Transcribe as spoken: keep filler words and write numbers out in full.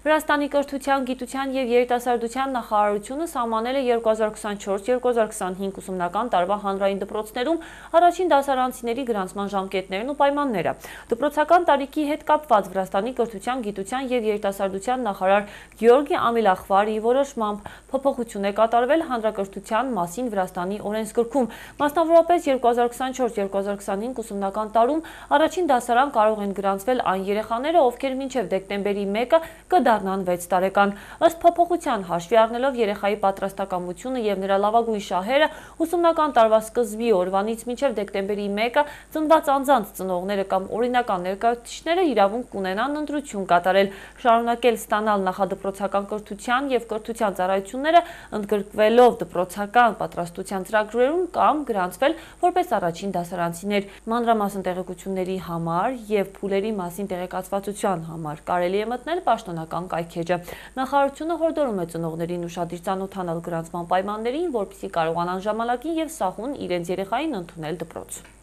Վրաստանի կրթության, գիտության և երիտասարդության նախարարությունը սահմանել է երկու հազար քսանչորս երկու հազար քսանհինգ ուսումնական տարվա հանրային դպրոցներում առաջին դասարանցիների գրանցման ժամկետներն ու պայմանները։ Դպրոցական տարիքի հետ կապված Վրաստանի կրթության, գիտության և երիտասարդության նախարար Գյորգի Ամիլախվարի որոշմամբ փոփոխություն է կատարվել հանրակրթության մասին Վրաստանի օրենսգրքում։ Մասնավորապես երկու հազար քսանչորս երկու հազար քսանհինգ ուսումնական տարում առաջին դասարան կարող են գրանցվել այն երեխաները, ովքեր մինչև դեկտեմբերի մեկը կդառնան վեց տարեկան։ Ըստ փոփոխության, հաշվի առնելով երեխայի պատրաստակամությունը և նրա լավագույն շահերը, ուսումնական տարվա սկզբի օրվանից մինչև դեկտեմբերի մեկը ծնված անձանց ծնողները կամ օրինական ներկայացուցիչները իրավունք կունենան ընտրություն կատարել, շարունակել ստանալ նախադպրոցական կրթության և կրթության ծառայությունները, ընդգրկվելով դպրոցական պատրաստության ծրագրերում կամ գրանցվել որպես առաջին դասարանցիներ։ Մանրամասն տեղեկությունների համար և փուլերի մասին տեղեկացվածության համար կարելի է մտնել պաշտոնական կայքէջը։ Նախարարությունը հորդորում է ծնողներին ուշադիր ծանոթանալ գրանցման պայմաններին, որպեսզի կարողանան ժամանակին և սահուն իրենց երեխային ընդունել դպրոց։